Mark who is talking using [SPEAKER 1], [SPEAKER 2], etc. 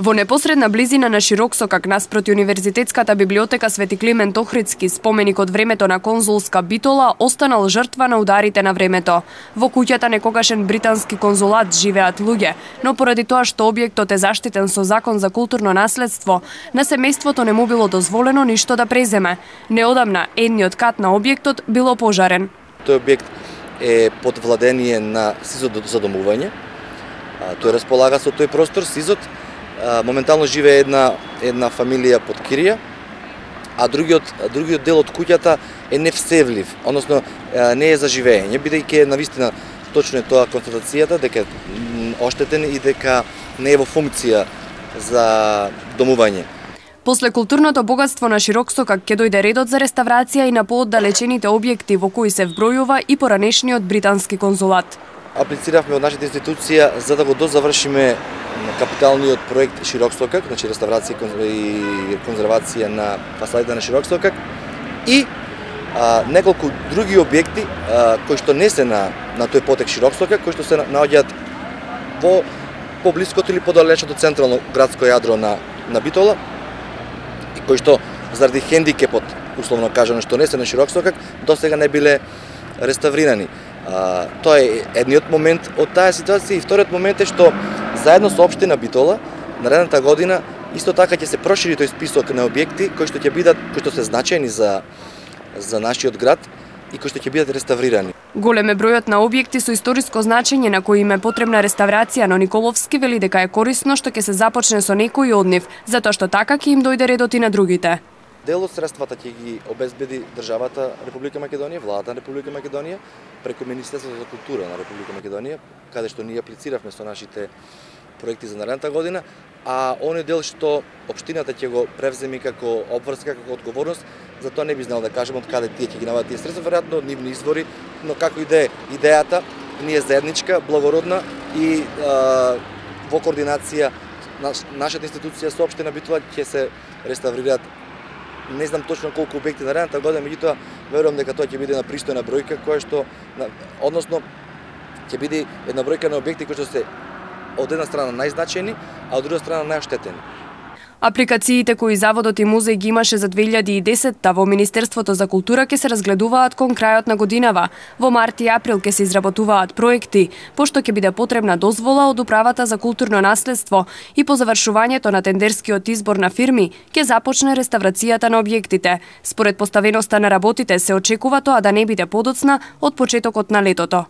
[SPEAKER 1] Во непосредна близина на Широксокак наспроти Универзитетската библиотека Свети Климент Охридски, споменик од времето на конзулска Битола останал жртва на ударите на времето. Во куќата некогашен британски конзулат живеат луѓе, но поради тоа што објектот е заштитен со закон за културно наследство, на семејството не му било дозволено ништо да преземе. Неодамна едниот кат на објектот бил опожарен.
[SPEAKER 2] Тој објект е под владение на СИЗ-от за домување. Тој располага со тој простор, СИЗ-от. Моментално живее една фамилија под кирија, а другиот дел од куќата е невсевлив, односно не е за живење, бидејќи навистина точно е тоа констатацијата дека оштетен и дека не е во функција за домување.
[SPEAKER 1] После културното богатство на Широксокак ќе дојде редот за реставрација и на пооддалечените објекти во кои се вбројува и поранешниот британски конзулат.
[SPEAKER 2] Аплициравме од нашата институција за да го дозавршиме капиталниот проект Широксокак, значи реставрација и конзервација на фасадите на Широксокак и неколку други објекти кои што не се на тој потек Широксокак, кои што се наоѓаат во поблиското или подалечното централно градско јадро на Битола и кои што заради хендикепот, условно кажано, што не се на Широксокак, досега не биле реставрирани. Тоа е едниот момент од таа ситуација и вториот момент е што заедно со општина Битола наредната година исто така ќе се прошири тој список на објекти кои што се значајни за нашиот град и кои што ќе бидат реставрирани.
[SPEAKER 1] Голем е бројот на објекти со историско значење на кои им е потребна реставрација, но Николовски вели дека е корисно што ќе се започне со некои од нив, затоа што така ќе им дојде редот и на другите.
[SPEAKER 2] Дел од средствата ќе ги обезбеди државата Република Македонија, владата на Република Македонија, преку Министерството за култура на Република Македонија, каде што ние аплициравме со нашите проекти за наредната година, а оној дел што општината ќе го превземе како обврска, како одговорност, за тоа не би знал да кажем од каде тие ќе ги најдат тие средства, веројатно од нивни извори, но како и да е, идејата ни е заедничка, благородна и во координација нашата институција со општина Битола ќе се реставрираат. Не знам точно колку објекти наредната година, меѓутоа верувам дека тоа ќе биде една пристојна бројка која што односно ќе биде една бројка на објекти кои што се од една страна најзначајни, а од друга страна најоштетени.
[SPEAKER 1] Апликациите кои Заводот и музеј ги имаше за 2010-та во Министерството за култура ќе се разгледуваат кон крајот на годинава. Во март и април ќе се изработуваат проекти, пошто ќе биде потребна дозвола од Управата за културно наследство и по завршувањето на тендерскиот избор на фирми ќе започне реставрацијата на објектите. Според поставеноста на работите се очекува тоа да не биде подоцна од почетокот на летото.